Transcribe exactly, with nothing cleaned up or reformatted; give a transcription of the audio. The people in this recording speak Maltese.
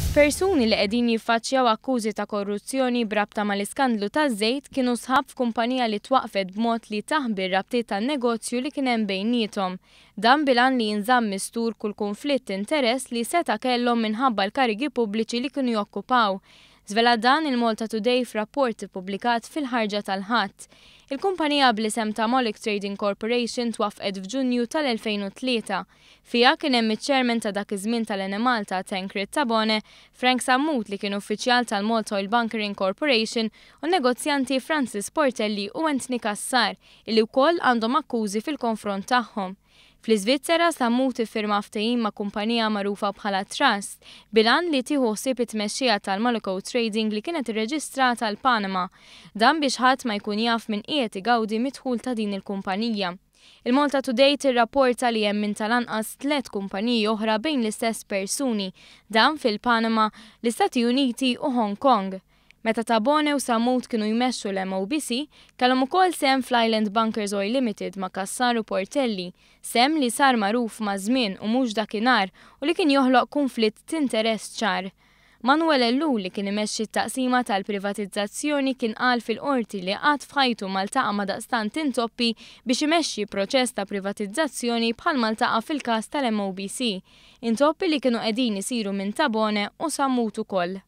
Persuni li qegħdin jiffaċċjaw akkużi ta' korruzzjoni b'rabta mal-iskandlu taż-żejt kienu sħab f'kumpanija li twaqfet b'mod li taħbi r-rabtiet tan-negozju li kien hemm bejniethom. Dan bil-għan li jinżamm mistur kull kunflitt interess li seta' kellhom minħabba l-karigi pubbliċi li kienu jokkupaw. Żvela dan il-Malta Today f'rapport ippubblikat fil-ħarġa tal-Ħadd. Il-kumpanija bl-isem ta' Molic Trading Corporation twaffqet f'Ġunju tal-elfejn u tlieta. Fiha kien hemm iċ-chairman ta' dak iż-żmien tal-Enemalta Tancred Tabone, Frank Sammut li kien uffiċjal tal-Malta Oil Bunkering Corporation u negozjanti Francis Portelli u Anthony Cassar, illi wkoll għandhom akkużi fil-konfront tagħhom. Fl-Iżvizzera Sammut iffirma ftehim ma' kumpanija magħrufa bħala Trust bil-għan li tieħu ħsieb it-tmexxija tal-Molico Trading li kienet irreġistrata l-Panama. Dan biex ħadd ma jkun jaf min qiegħed igawdi mid-dħul ta' din il-kumpanija. Il-Malta Today tirrapporta li hemm minn tal-anqas tliet kumpaniji oħra bejn l-istess persuni, dan fil-Panama, l-Istati Uniti u Hong Kong. Meta Tabone u Sammut kienu jmexxu l-M O B C, kellhom ukoll sehem fl-Island Bunkers Oil Limited ma' Cassar u Portelli, sehem li sar magħruf ma' żmien u mhux dakinhar u li kien joħloq kunflitt t'interess ċar. Manuel Ellul li kien imexxi t-taqsima tal-privatizzazzjoni kien qal fil-qorti li qatt f'ħajtu ma ltaqa' ma' daqstant intoppi biex imexxi proċess ta' privatizzazzjoni bħal ma ltaqa' fil-każ tal-M O B C. Intoppi li kienu qegħdin isiru minn Tabone u Sammut ukoll.